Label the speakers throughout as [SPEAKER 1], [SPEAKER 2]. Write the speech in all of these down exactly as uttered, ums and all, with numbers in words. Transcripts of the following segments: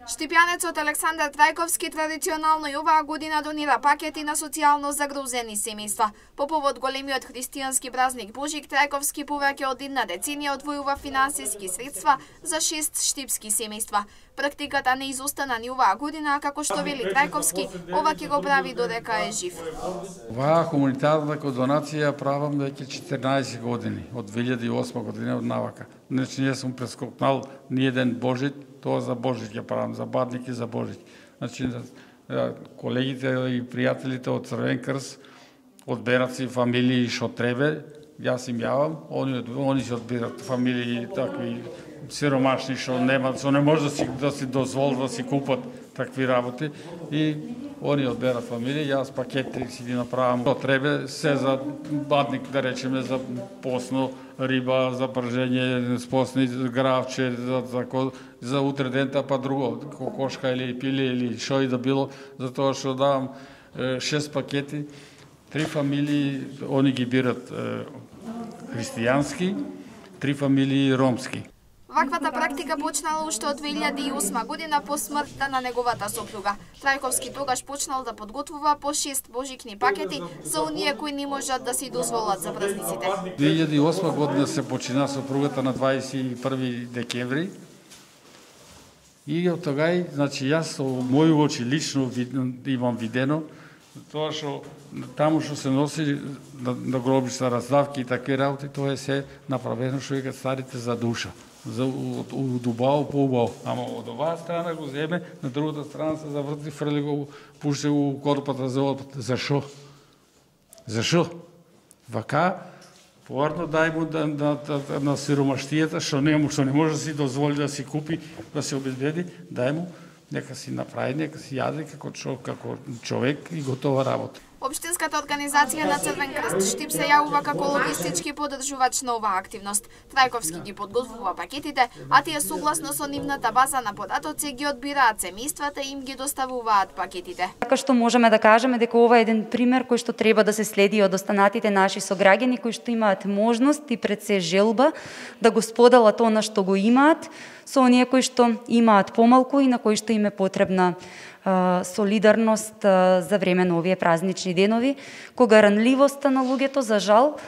[SPEAKER 1] Штипјанецот Александар Трајковски традиционално и оваа година донира пакети на социјално загрозени семејства. По повод големиот христијански празник Божик, Трајковски повеќе од една деценија одвојува финансиски средства за шест штипски семејства. Практиката не изостана ни оваа година, како што вели Трајковски, ова ќе го прави додека е жив.
[SPEAKER 2] Оваа хуманитарна донација правам веќе четирнаесет години, од две илјади и осма година од навака. Значи не сум прескокнал ни еден Божит, тоа за Божит ќе правам, за Бадник и за Божит. Значи колегите и пријателите од Црвен крст одберат си фамилии што требе, јас им јавам, они они се одбират фамилии такви сиромашни што немаат, што не може да си да си дозволат да си купат такви работи и они одберат фамилии, јас пакети си ги направам. Што требе се за Бадник, да речеме, за посно риба, за пржење, спосни гравче, за, за, за утре дента, па друго, кокошка или пиле или што и да било, за тоа што давам шест пакети, три фамилии, они ги бират е, христијански, три фамилии ромски.
[SPEAKER 1] Ваквата практика почнала уште од две илјади и осма година по смртта на неговата сопруга. Трајковски тогаш почнал да подготвува по шест божикни пакети за оние кои не можат да си дозволат за празниците.
[SPEAKER 2] две илјади и осма година се почина сопругата на дваесет и први декември. И од тогај, значи јас со мои очи лично имам видено тоа што таму што се носи на, на гробишта раздавки и такви работи, тоа е се направено што викаат старите за душа. За од убаво по убаво. Ама од оваа страна го земе, на другата страна се заврти, фрли го, пуште го корпата за отпад. Зашо? Зашо? Вака, поварно дај му да, да, да, на сиромаштијата, што не, што не може да си дозволи да си купи, да се обезбеди, дај му, нека си направи, нека си јаде како, како човек и готова работа.
[SPEAKER 1] Општинската организација на Црвен крст Штип се јавува како логистички поддржувач на оваа активност. Трајковски ги подготвува пакетите, а тие согласно со нивната база на податоци ги одбираат семејствата и им ги доставуваат пакетите.
[SPEAKER 3] Така што можеме да кажеме дека ова е еден пример кој што треба да се следи од останатите наши сограѓани кои што имаат можност и пред се желба да го споделат она што го имаат со оние кои што имаат помалку и на кои што им е потребна солидарност за време на овие празнични денови, кога ранливоста на луѓето, за жал,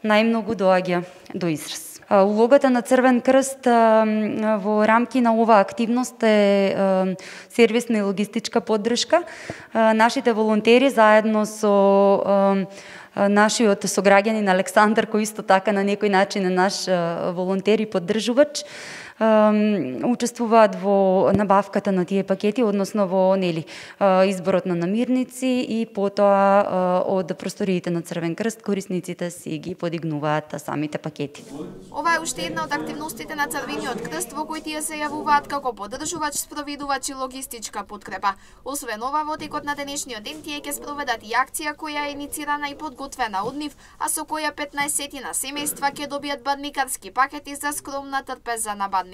[SPEAKER 3] најмногу доаѓа до израз. Улогата на Црвен крст во рамки на оваа активност е сервисна и логистичка поддршка. Нашите волонтери заедно со нашиот сограѓанин Александар, кој исто така на некој начин е наш волонтер и поддржувач, учествуваат во набавката на тие пакети, односно во нели изборот на намирници и потоа од просториите на Црвен крст корисниците си ги подигнуваат самите пакети.
[SPEAKER 1] Ова е уште една од активностите на Црвениот крст во кои тие се јавуваат како поддржувач, спроведувач и логистичка подкрепа. Освен ова, во текот на денешниот ден тие ќе спроведат и акција која е иницирана и подготвена од нив, а со која петнаесет семејства ќе добијат бадникарски пакети за скромна трпеза на Бадник.